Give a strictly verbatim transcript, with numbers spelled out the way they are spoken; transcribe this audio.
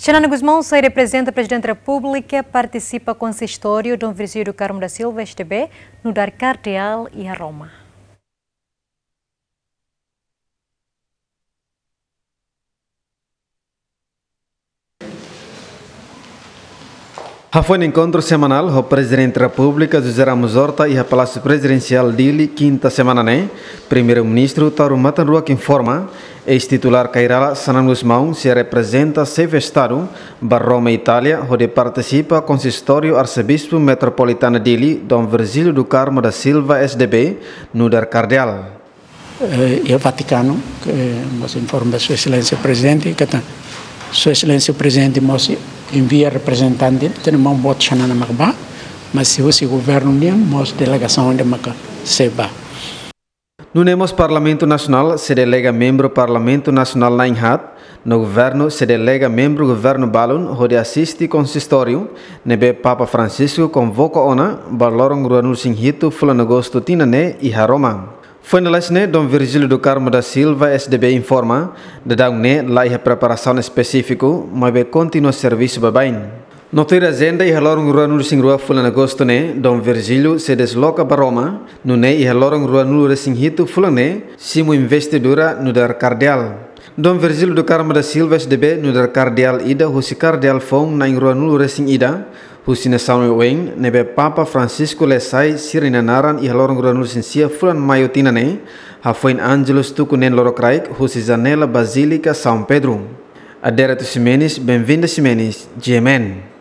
Xanana Gusmão sai reprezenta Prezidente Repúblika, partisipa konsistóriu Dom Virgílio do Carmo da Silva, S D B, nu'udar kardeál iha Roma. Hafoin enkontru semanál ho Prezidente Repúblika José Ramos Horta iha Palásiu Prezidensiál Dili, kinta semana ne'e, Primeiru-Ministru Taur Matan Ruak informa, eis-titulár Kairala Xanana Gusmão sei reprezenta Xefe Estadu ba Roma, Itália, hodi partisipa konsistóriu Arsebispu Metropolitana Dili, Dom Virgílio do Carmo da Silva, S D B, nu'udar kardeál. Eh, iha Vatikanu, ke mós informa Sua Exelénsia Prezidente, katak Sua Exelénsia Prezidente mós envia reprezentante, tenke maun boot Xanana mak bá, mas se husi governu nian, mós delegasaun ida maka sei bá. Nune'e mós Parlamentu Nasionál sei delega membru Parlamentu Nasionál na'in-haat, no governu sei delega membru governu balun hodi asiste konsistóriu ne'ebé Papa Francisco konvoka ona ba loron ruanulu-resin-hitu fulan Agostu tinan ne'e iha Roma. Foin lalais ne'e, Dom Virgílio do Carmo da Silva, S D B, informa, daudaun ne'e la iha preparasaun espesífiku, maibé kontinua servisu baibain. No tuir ajenda, iha loron ruanulu-resin-rua fulan Agostu ne'e, Dom Virgílio sei desloka ba Roma, nune'e iha loron ruanulu-resin-hitu fulan ne'e simu investidura nu'udar kardeál. Dom Virgílio do Carmo da Silva, S D B, nu'udar kardeál ida husi kardeál foun na'in ruanulu-resin-ida husi nasaun oioin ne'ebé Papa Francisco lee sai sira-nia naran iha loron ruanulu-resin-sia fulan Maiu tinan ne'e, hafoin Ángelus tuku neen lorokraik husi janela Bazílika São Pedro. Adérito Ximenes, Benvinda Ximenes, G M N.